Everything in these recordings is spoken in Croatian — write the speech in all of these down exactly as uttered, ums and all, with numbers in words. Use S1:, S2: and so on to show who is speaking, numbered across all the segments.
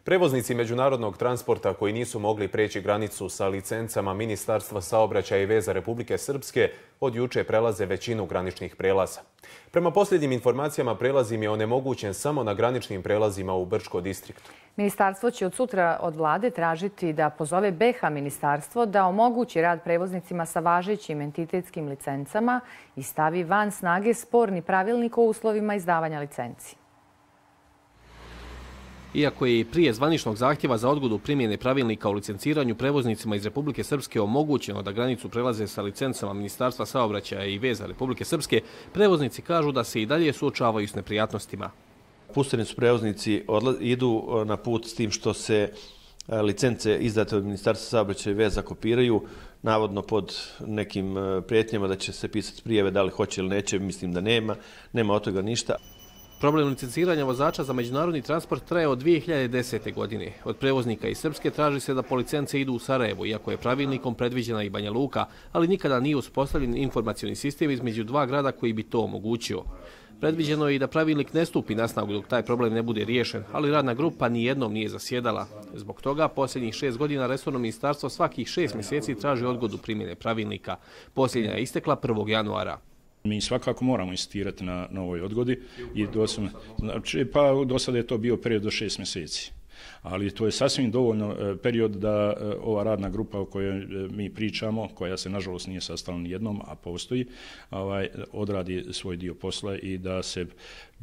S1: Prevoznici međunarodnog transporta koji nisu mogli preći granicu sa licencama Ministarstva saobraćaja i veza Republike Srpske od juče prelaze većinu graničnih prelaza. Prema posljednjim informacijama, prelaz im je onemogućen samo na graničnim prelazima u Brčko distriktu.
S2: Ministarstvo će od sutra od vlade tražiti da pozove B H ministarstvo da omogući rad prevoznicima sa važećim entitetskim licencama i stavi van snage sporni pravilnik o uslovima izdavanja licenci.
S3: Iako je i prije zvaničnog zahtjeva za odgodu primjene pravilnika o licenciranju prevoznicima iz Republike Srpske omogućeno da granicu prelaze sa licencama Ministarstva saobraćaja i veza Republike Srpske, prevoznici kažu da se i dalje suočavaju s neprijatnostima.
S4: Pušteni su prevoznici, idu na put s tim što se licence izdate od Ministarstva saobraćaja i veza kopiraju, navodno pod nekim prijetnjama da će se pisati prijave da li hoće ili neće, mislim da nema, nema od toga ništa.
S3: Problem licenciranja vozača za međunarodni transport traje od dvije hiljade desete. godine. Od prevoznika iz Srpske traži se da po licence idu u Sarajevo, iako je pravilnikom predviđena i Banja Luka, ali nikada nije uspostavljen informacioni sistem između dva grada koji bi to omogućio. Predviđeno je i da pravilnik ne stupi na snagu dok taj problem ne bude riješen, ali radna grupa nijednom nije zasjedala. Zbog toga posljednjih šest godina resorno ministarstvo svakih šest mjeseci traži odgodu primjene pravilnika. Posljednja je istekla prvog januara.
S5: Mi svakako moramo insistirati na, na ovoj odgodi i doslovno, znači, pa do sada je to bio period do šest mjeseci. Ali to je sasvim dovoljno period da ova radna grupa o kojoj mi pričamo, koja se nažalost nije sastala ni jednom, a postoji, ovaj, odradi svoj dio posla i da se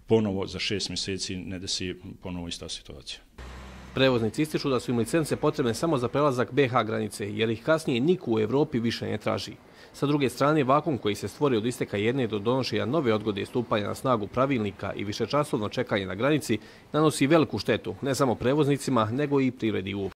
S5: ponovo za šest mjeseci ne desi ponovo ista situacija.
S3: Prevoznici ističu da su im licence potrebne samo za prelazak B H granice, jer ih kasnije niko u Evropi više ne traži. Sa druge strane, vakuum koji se stvori od isteka jedne do donošenja nove odgode stupanja na snagu pravilnika i višečasovno čekanje na granici nanosi veliku štetu ne samo prevoznicima, nego i privredi uopšte.